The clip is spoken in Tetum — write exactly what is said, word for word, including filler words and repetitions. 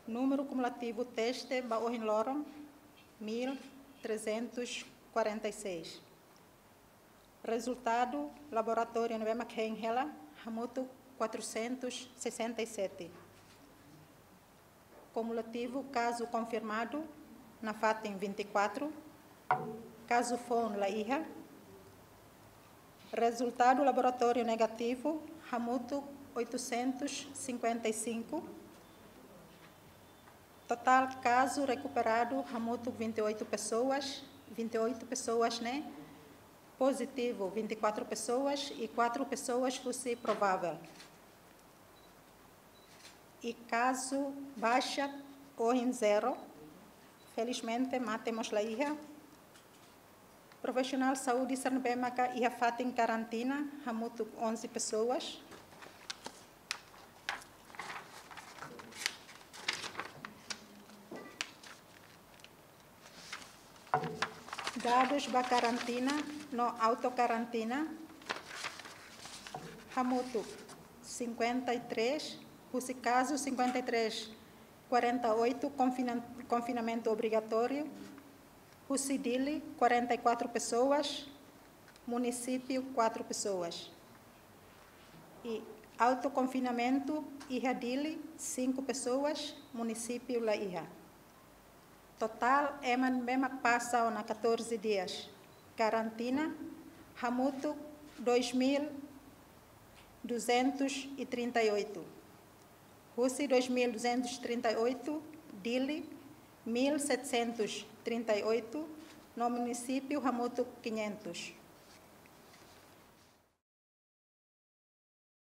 Númeru kumulativu teste ba ohin loron, mil trezentos quarenta e seis. Rezultadu laboratóriu ne'ebé mak hein hela, hamutuk quatrocentos sessenta e sete. Kumulativu kazu konfirmadu nafatin vinte e quatro, kazu foun la iha. Rezultadu laboratóriu negativu, hamutuk oitocentos cinquenta e cinco. Totál kazu rekuperadu, hamutuk vinte e oito pessoas, vinte e oito pessoas ne'e pozitivu, vinte e quatro pessoas e quatro pessoas husi provável. I kazu baixa ohin zero. Felizmente, mate mós la iha. Profisionál saúde sira ne'ebé maka iha fatin karantina, hamutuk onze pessoas. Dadus ba karantina no autokarantina, hamutuk cinquenta e três, husi kazu cinquenta e três, quarenta e oito konfina-, konfinamentu obrigatóriu, husi Dili quarenta e quatro pessoas, munisípiu quatro pessoas. I autokonfinamentu iha Dili cinco pessoas, munisípiu la iha. Totál ema ne'ebé mak pasa ona catorze dias karantina, hamutuk dois mil duzentos e trinta e oito. Husi dois mil duzentos e trinta e oito, Dili mil setecentos trinta e oito, no munisípiu hamutuk quinhentos.